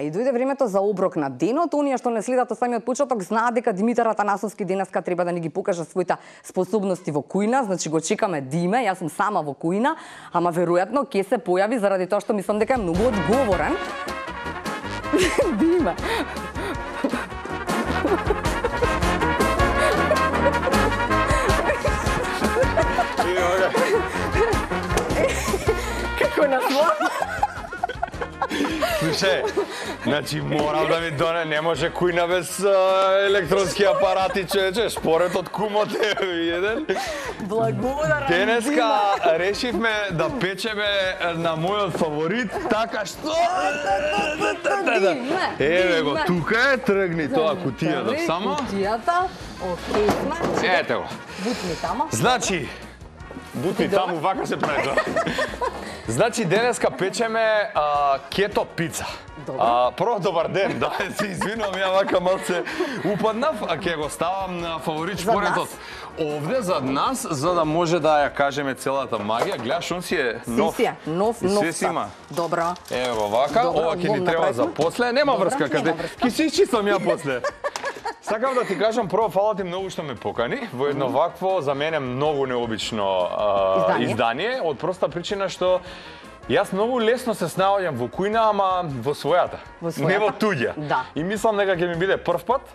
и дојде времето за оброк на денот. Оние што не следат од самиот почеток знаат дека Димитар Атанасовски денеска треба да ни ги покаже своите способности во кујна, значи го чекаме Диме, јас сум сама во кујна, ама веројатно ќе се појави заради тоа што мислам дека е многу одговорен. Диме. Како на слава? Слушај, значи морам да ми доне, не може кујна без електронски апарати, човече, шпорет од кумот е еден. Благодарам. Денеска решивме да печеме на мојот фаворит, така што... Еве го, тука е, тргни тоа кутијата само. Кутијата, окей сме. Ете го. Бутни тамо. Значи, бутни таму, вака се прави тоа. Значи, денеска печеме кето пица. Прво, добар ден, да, се извинувам, ја вака малце упаднав, а ќе го ставам на фаворит шпоретот. Овде зад нас, за да може да ја кажеме целата магија. Гледаш, он си е нов. Нов има. Добро. Ево вака, ова ќе ни треба за после. Нема врска, каде ќе се исчистам ја после. Сакам да ти кажам, прво, фала ти многу што ме покани во едно вакво, за мене многу необично издание, од проста причина што јас многу лесно се снаоѓам во кујна, ама во својата, не во туѓа. Да. И мислам дека ќе ми биде прв пат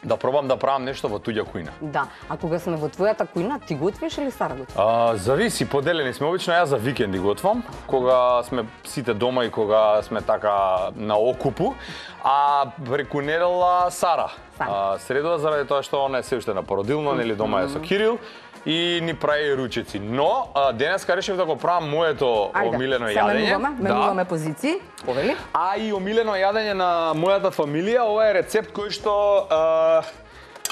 да пробам да правам нешто во туѓа кујна. Да, а кога сме во твојата кујна, ти готвиш или Сара готви? Зависи, поделени сме. Обично јас за викенди готвам, кога сме сите дома и кога сме така на окупу, а преку недела Сара. Средова заради тоа што она е се уште на породилно, нели дома е со Кирил и ни прави ручеци. Но денеска решив да го правам моето омилено јадење. Менуваме позиции, повели. А и омилено јадење на мојата фамилија, ова е рецепт кој што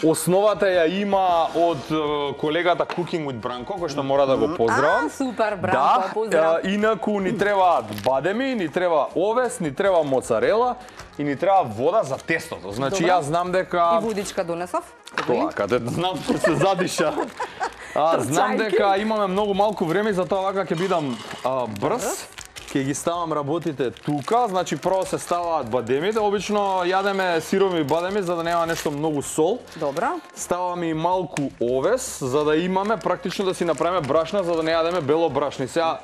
основата ја има од колегата Cooking with Branko, кој што мора да го поздравам. Супер, Бранко, поздрав. Инаку ни требаат бадеми, ни треба овес, ни треба моцарела и ни треба вода за тестото. Значи јас знам дека... И водичка донесов. Тоа, каде знам што се задиша. Знам дека имаме многу малку време, затоа вака ќе бидам брз. Ќе ги ставам работите тука, значи прво се ставаат бадемите, обично јадеме сирови бадеми за да нема нешто многу сол. Добро. Ставаме и малку овес за да имаме практично да си направиме брашна за да не јадеме бело брашни. Сега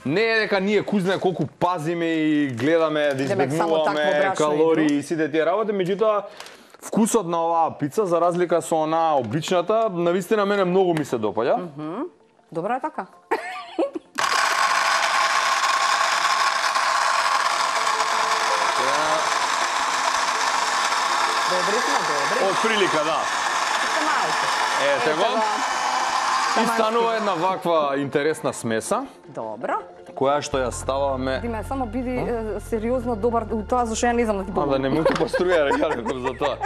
не е дека ние кузне колку пазиме и гледаме да избегнуваме калории и сите тие работи, меѓутоа вкусот на оваа пица за разлика со онаа обичната, навистина мене многу ми се допаѓа. Добро е така. Добри. Од прилика, да. Ете го. И станува една ваква интересна смеса. Добро. Која што ја ставаме... Диме, само биди сериозно добар у тоа, зашто ја не знам да ти помогам. Да не му ти поструја рекареков за тоа.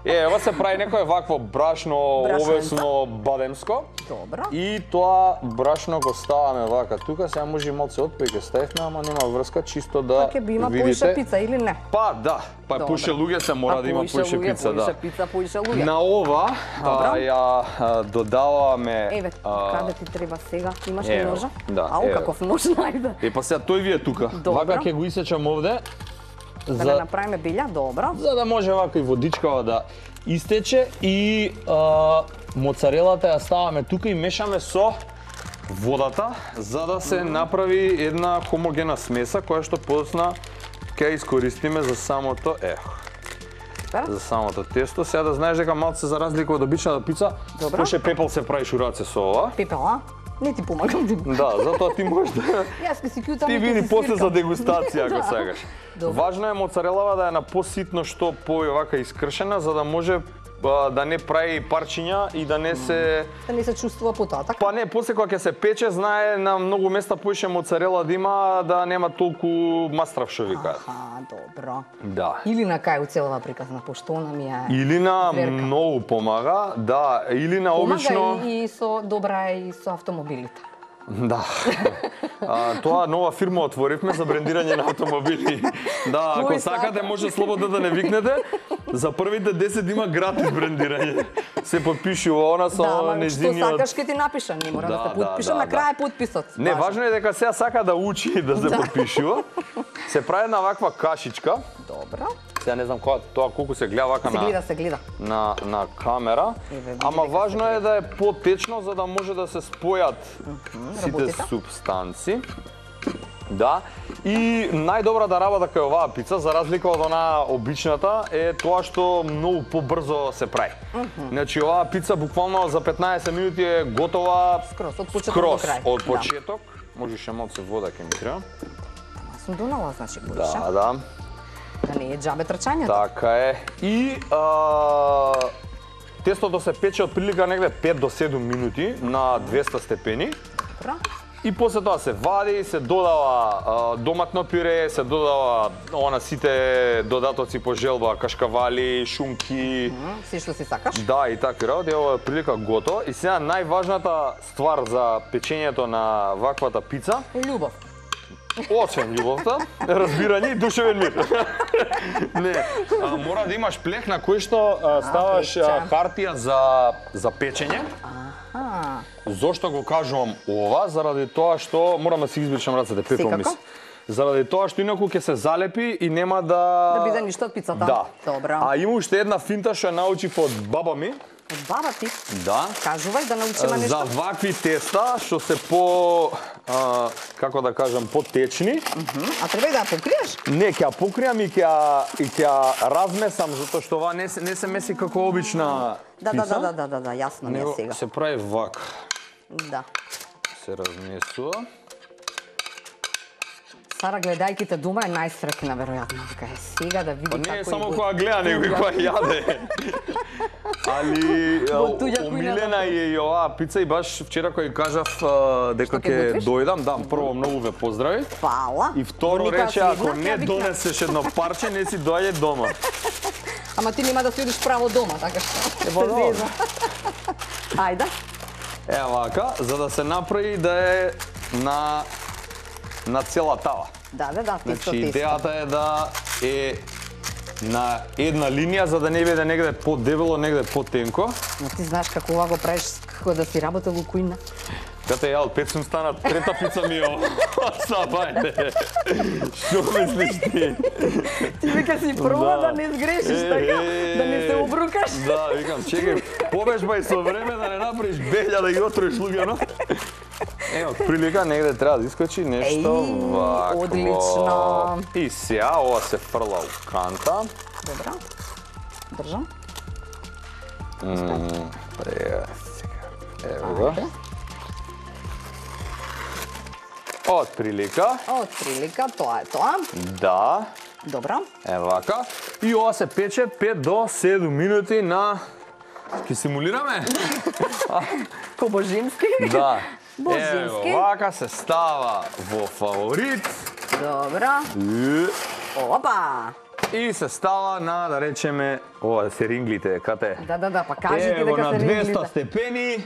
Ова се прави некој вакво брашно, овесно, бадемско. Добро. И тоа брашно го ставаме вака тука, сега може и малце отпеќе ставивме, ама нема врска, чисто да видите. Па ќе би има поише пица или не? Па да, поише луѓе се мора да има поише пица, да. Поише пица, поише луѓе. На ова ја додаваме... Еве, каде ти треба сега? Имаш ли ножа? Да. Ау, каков нож најде. Па сега тој ви е тука. Вака ќе го исечам овде. Да не направиме билја, добро. За да може вака и водичкава да истече и моцарелата ја ставаме тука и мешаме со водата за да се направи една хомогена смеса која што подоцна ќе искористиме за самото за самото тесто. Сега да знаеш дека малце за разлика од обичната пица, поше пепел се прави шураце со ова. Пепел, а? Не ти помагам. Да, затоа ти можеш да... Јас ке си кјутам ти види после за дегустација, ако сакаш. Добре. Важно е моцарелава да е на поситно што повака искршена, за да може да не прави парчиња и да не се... Да не се чувствува потоа, така? Па не, после кога ќе се пече, знае на многу места поише моцарела да има, да нема толку мастрав што викаат. Добро. Да. Или на кај уцелова приказна, пошто она ми е... Или на многу помага, да, или на обично... Помага и со добра и со автомобилите. Да. Тоа нова фирма отворивме за брендирање на автомобили. Да, ако сакате може слободно да не викнете. За првите 10 има гратис брендирање. Се подпишува она со нејзиниот... Што сакаш ке ти напишам, не мора да се подпишам, на крај подписот. Не, важно е дека сега сака да учи да се подпишува. Се прави една ваква кашичка. Добро. Сега не знам тоа колку се гледа вака Се гледа. на камера, ама важно е да е потечно за да може да се спојат сите супстанци. Да. И најдобрата работа кај оваа пица, за разлика од онаа обичната, е тоа што многу побрзо се прави. Значи оваа пица буквално за 15 минути е готова скроз од почеток до крај. Од почеток. Можеше малку вода ке ми треба. Сум донала, значи будеше. Да. Да не е џабе трчањето. Така е. И тестото се пече од прилика негде 5 до 7 минути на 200 степени. Добро. И после тоа се вади, се додава доматно пюре, се додава сите додатоци по желба, кашкавали, шунки. Се што си сакаш? Да, и такви работи, ова е прилика готово. И сега најважната ствар за печењето на ваквата пица е љубов. Освен љубовта, разбирање и душевен мир. Не, мора да имаш плех на кој што ставаш хартија за печење. Зошто го кажувам ова? Заради тоа што морам да си избричам рацете, пепел мис. Заради тоа што инаку ќе се залепи и нема да биде ништо од пицата. Да. Добро. А има уште една финта што ја научив од баба ми. Од баба ти? Да. Кажувај да научиме нешто. За вакви теста што се по како да кажам, потечни. А треба и да ја покриеш? Не, ќе ја покријам и ќе ја размесам затоа што ова не се меси како обична пица. Да, јасно ми е сега. Се прави вака. Да. Се размесува. Сара, гледајките дома е најсрекна, веројатно. Така е сега да види како не е само која гледа, него и која јаде. Али умилена е и оваа пица и баш вчера кој кажав дека ќе дојдам, да, прво многу ве поздрави. Фала. И второ рече, ако не донесеш едно парче, не си доаѓа дома. Ама ти нема да си одиш право дома, така што. Ајде. Вака, за да се направи да е на цела тава. Да, Значи, идејата е да е на една линија, за да не биде негде подебело, негде потенко. Но ти знаеш како ова го правиш, како да си работел во кујна? Кате, јал, 5 сум стана, трета пица ми е ова. Сабајте. Што мислиш ти? Ти вика си проба да не сгрешиш, така? Да не се обрукаш? Да, викам, чекај, побежбај со време да не направиш белја да ги отроиш луѓето. Од прилика негде треба да искочи нешто вакво. Одлично. И сега ова се фрла у канта. Добро. Држам. Ево го. Од прилика, тоа е тоа. Да. Добро. Вака. И ова се пече 5 до 7 минути на... Ке симулираме? По-божински. Да. Божински. Ево, вака се става во фаворит. Добро. Опа! И се става на, да речеме, ова се ринглите, кате? Да, па кажи ти дека се ринглите. На 200 степени,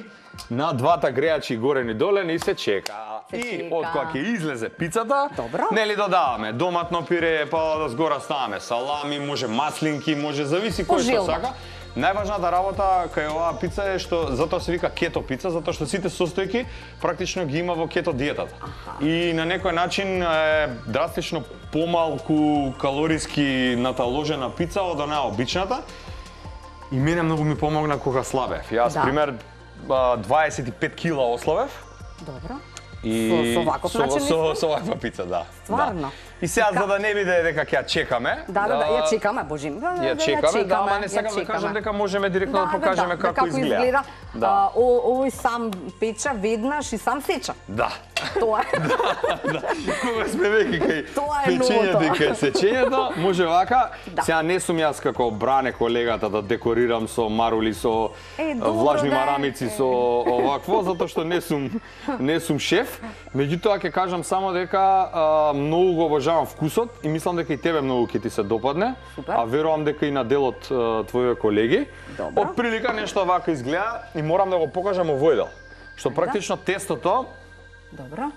на двата грејачи горен и долен и се чека. И од кога ќе излезе пицата, нели додаваме доматно пире, па да згора ставаме салами, може маслинки, може зависи кој што сака. Најважната работа кај оваа пица е што затоа се вика кето пица, затоа што сите состојки практично ги има во кето диетата. И на некој начин е драстично помалку калориски наталожена пица од онаа обичната. И мене многу ми помогна кога слабев. Јас пример 25 кила ослабев. Добро. И со ваков начин со ваква пица, да. Стварно. И сега за да не биде дека ќе ја чекаме. Да, ја чекаме, Божин. Ја чекаме, да, ама не сакам да кажам дека можеме директно да покажеме како изгледа. Овој сам печа веднаш и сам сеча. Да. Тоа е. Да. Кога сме веќе кај печењето и кај сечењето, може вака. Сега не сум јас како Бране колегата да декорирам со марули, со влажни марамици, со овакво, затоа што не сум шеф. Меѓутоа ќе кажам само дека многу го обожавам вкусот и мислам дека и тебе многу ќе ти се допадне. А верувам дека и на дел од твоите колеги. Од прилика нешто вака изгледа и морам да го покажам овој дел. Што практично тестото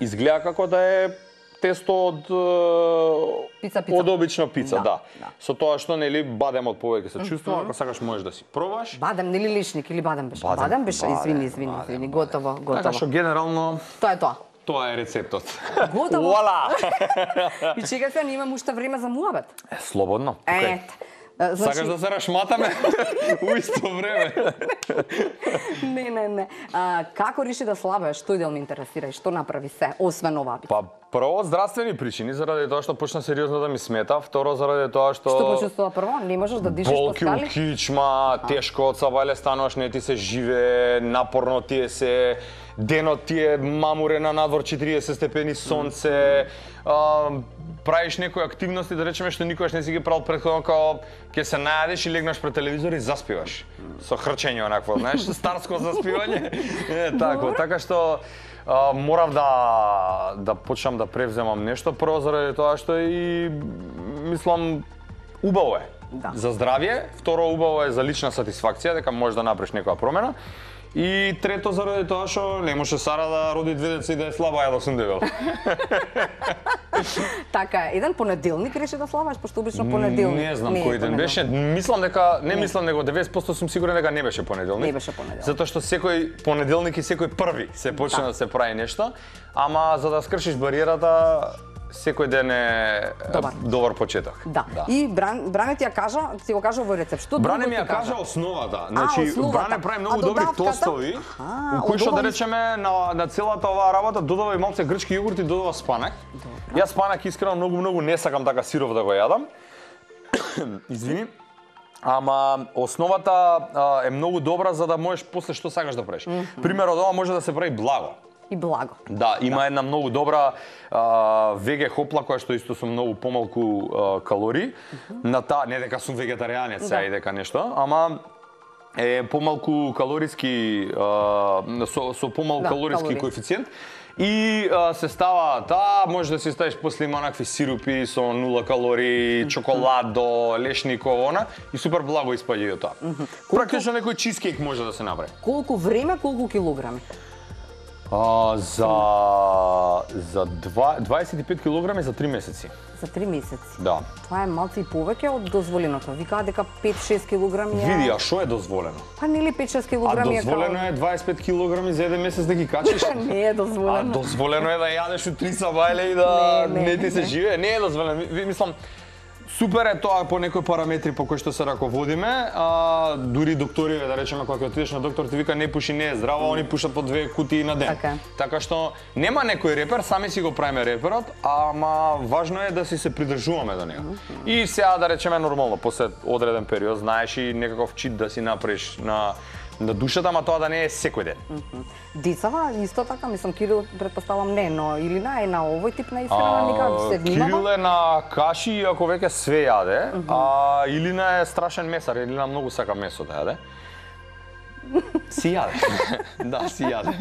изгледа како да е тесто од обична пица, да. Со тоа што нели бадемот повеќе се чувствува, ако сакаш можеш да си пробаш. Бадем нели лишник или бадем беше? Бадем беше, извини, готово. Така што генерално тоа е тоа. Тоа е рецептот. Готово. Вуала! И чека се, имам уште време за муабет. Слободно. Ете. Сакаш да се рашматаме у исто време? Не. Како реши да слабееш? Тој дел ме интересира и што направи се, освен ова? Па прво здравствени причини, заради тоа што почна сериозно да ми смета, второ заради тоа што Што почувствува прво? Не можеш да дишиш по болки у скали? кичма, тешко од сабајле стануваш, не ти се живее, напорно ти е се, денот ти е мамурен на надвор 40 степени сонце, правиш некои активности, да речеме, што никогаш не си ги правил претходно, као ќе се најадеш и легнаш пред телевизор и заспиваш. Со хрчење онакво, знаеш, старско заспивање. Тако, така што морав да почнам да превземам нешто, прво заради тоа што и мислам убаво е. Да. За здравје, второ убаво е за лична сатисфакција, дека можеш да направиш некоја промена. И трето заради тоа што не може Сара да роди 2 деца и да е слаба, ја да сум дебел. Така е, еден понеделник реши да слабаш, пошто обично понеделник. Не знам кој ден беше. Мислам дека него 90% сум сигурен дека не беше понеделник. Не беше понеделник. Затоа што секој понеделник и секој први се почна да се прави нешто, ама за да скршиш бариерата секој ден е добар почеток. Да. И Бране ти ја кажа, ти го кажа овој рецепт. Што Бране ми ја кажа основата. Значи Бране прави многу добри тостови, у кои што да речеме на целата оваа работа додава и малце грчки јогурт и додава спанак. Јас спанак искрено многу не сакам така сиров да го јадам. Извини. Ама основата е многу добра за да можеш после што сакаш да правиш. Пример од ова може да се прави благо. И благо. Да, има една многу добра веге хопла која што исто со многу помалку калории. На таа не дека сум вегетаријанец и дека нешто, ама е помалку калориски со помалку калориски коефициент. И се става таа, може да си ставиш после има онакви сирупи со 0 калории, чоколадо, лешниково, она, и супер благо испаѓа и од тоа. Практично некој чизкейк може да се направи. Колку време, колку килограми? За 25 килограми за 3 месеци. За 3 месеци? Да. Тоа е малце и повеќе од дозволеното. Викаат дека 5-6 килограми е... Види, а што е дозволено? Па нели 5-6 килограми е... А дозволено е 25 килограми за еден месец да ги качиш? Не е дозволено. А дозволено е да јадеш у 3 сабајле и да не ти се живее? Не е дозволено. Мислам, супер е тоа по некои параметри по кои што се раководиме, дури докториве, да речеме, кога отидеш на доктор ти вика не пуши, не е здраво, они пушат по 2 кутии на ден. Така што нема некој репер, сами си го правиме реперот, ама важно е да си се придржуваме до него. И сега да речеме нормално, после одреден период знаеш и некаков чит да си направиш на душата, ама тоа да не е секој ден. Децава исто така, мислам Кирил претпоставам не, но Илина е на овој тип на исхрана, никако се внимава. Кирил е на каши, ако веќе све јаде, а Илина е страшен месар, Илина многу сака месо да јаде. Си јаде. Да, си јаде.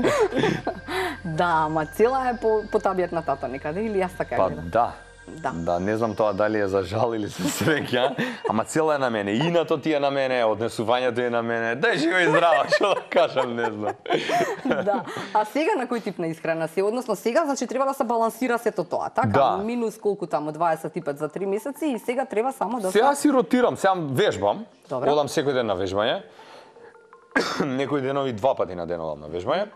Да, ама цела е по табијат на тата некаде, или јас така Па гледам? да. Да, не знам тоа дали е за жал или за среќа, ама цела е на мене. Инато ти е на мене, однесувањето е на мене. Дај жива и здрава, што да кажам, не знам. Да. А сега на кој тип на исхрана си? Односно сега, значи треба да се балансира сето тоа, така? Да. Минус колку таму 25 за 3 месеци и сега треба само да Сега си ротирам, сега вежбам. Добре. Одам секој ден на вежбање. Некои денови 2 пати на ден одам на вежбање.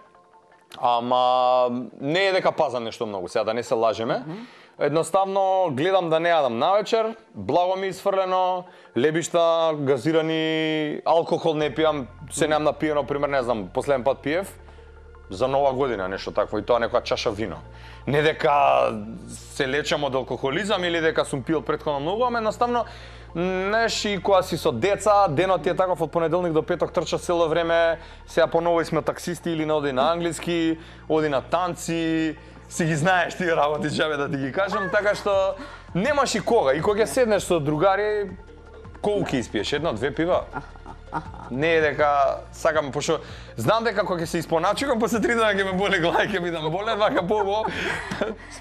Ама не е дека пазам нешто многу, сега да не се лажеме. Едноставно гледам да не јадам навечер, благо ми изфрлено, лебишта, газирани, алкохол не пијам, се немам напиено, пример, не знам, последен пат пиев за Нова година нешто такво и тоа некоја чаша вино. Не дека се лечам од алкохолизам или дека сум пил претходно многу, ама едноставно знаеш, и кога си со деца, денот ти е таков од понеделник до петок трчаш цело време, сега поново сме таксисти или не оди на англиски, оди на танци, си ги знаеш тие работи, чабе да ти ги кажам, така што немаш и кога. И кога ќе седнеш со другари, колку ќе испиеш? 1-2 пива? Не е дека сакам, пошто знам дека кога ќе се испоначувам, после 3 дена ќе ме боле глава, ќе бидам болен, вака побо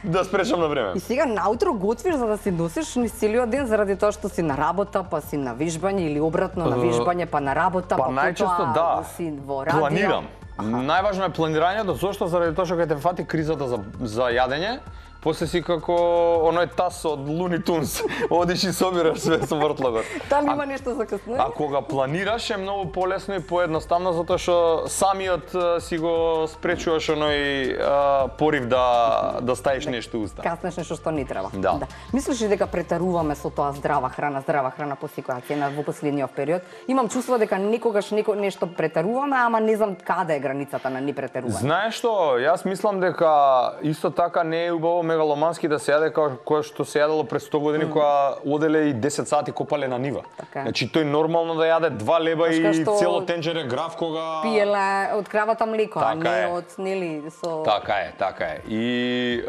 да спречам на време. И сега наутро готвиш за да се носиш низ целиот ден заради тоа што си на работа, па си на вежбање или обратно на вежбање, па на работа, па најчесто да. Си во радио. Планирам. Најважно е планирањето, зошто? Заради тоа што кога те фати кризата за јадење, после си како оној тас од Луни Тунс, одиш и собираш све со вртлогот. Таму има нешто закъснено. А кога планираш е многу полесно и поедноставно затоа што самиот си го спречуваш оној порив да ставиш нешто у уста. Каснеш нешто што не треба. Да. Мислиш ли дека претеруваме со тоа здрава храна по секоја во последниот период? Имам чувство дека некогаш нешто претеруваме, ама не знам каде е границата на не претерување. Знаеш што, јас мислам дека исто така не е убаво мегаломански да се јаде како што се јадело пред 100 години кога оделе и 10 сати копале на нива. Така. Значи тој нормално да јаде 2 леба и што цело тенџере граф кога пиеле од кравата млеко, а не од нели со Така е. И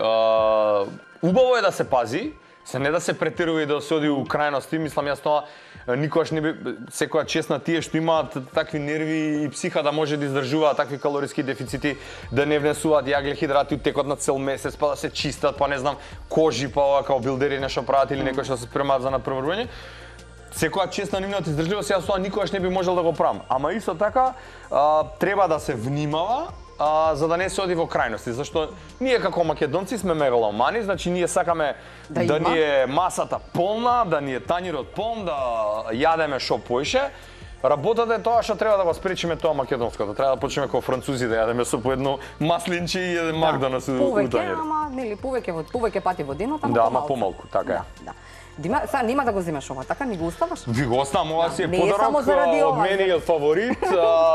убаво е да се пази, се не да се претерува и да се оди у крајности, мислам јас тоа никогаш не би секоја чест на тие што имаат такви нерви и психа да може да издржуваат такви калориски дефицити, да не внесуваат јагле хидрати у текот на цел месец, па да се чистат, па не знам, кожи, па ова као билдери нешто прават или некој што се спремаат за напреварување. Секоја чест на нивната издржливост, јас тоа никогаш не би можел да го правам. Ама исто така треба да се внимава за да не се оди во крајности, зашто ние како македонци сме мегаломани, значи ние сакаме да ни е масата полна, да ни е тањирот полн, да јадеме шо поише. Работата е тоа што треба да го спречиме тоа македонското. Треба да почнеме како французи да јадеме со по едно маслинче и еден Макдоналдс у тањер. Ама нели повеќе пати во денот, ама да, ама помалку, така е. Да. Дима, сега нема да го земеш ова, така ни го оставаш? Ви го оставам, ова си е не е само подарок заради од ова, мене и од фаворит,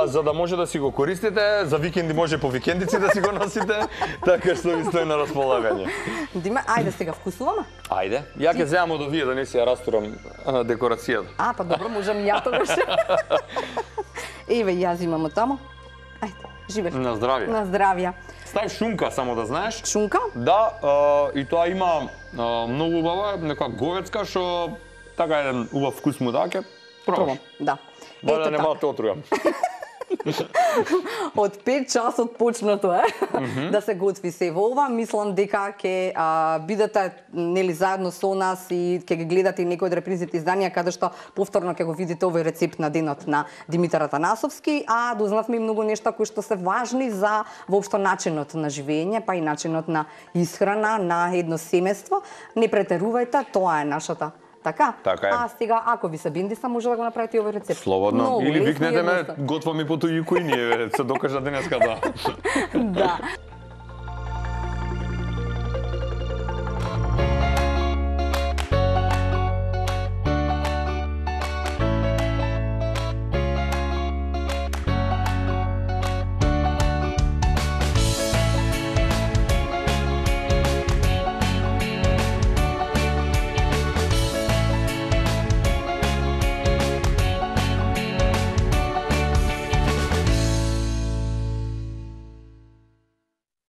за да може да си го користите, за викенди може по викендици да си го носите, така што ви стои на располагање. Дима, ајде сега вкусуваме? Ајде, ја ќе земам од овие да не си ја растурам декорацијата. Па добро, можам и ја тогаш. Еве, ја земам од таму. Ајде, живееш. На здравје. На здравје. Стави шунка, само да знаеш. Шунка? Да, и тоа има многу убава, нека говецка, што така еден убав вкус му даке. Пробаш. Да. Ба да нема да те отрујам. Од 5 часот почнато е да се готви се во ова. Мислам дека ќе бидете нели заедно со нас и ќе ги гледате и некои од репризните изданија каде што повторно ќе го видите овој рецепт на денот на Димитар Атанасовски, а дознавме и многу нешта кои што се важни за воопшто начинот на живење, па и начинот на исхрана на едно семејство. Не претерувајте, тоа е нашата. Така е. А сега, ако ви се бендиса, може да го направите овој рецепт. Слободно. Много или лесно и викнете ме, едноставно. готва ми по тој и ние се докажа денеска да. Да.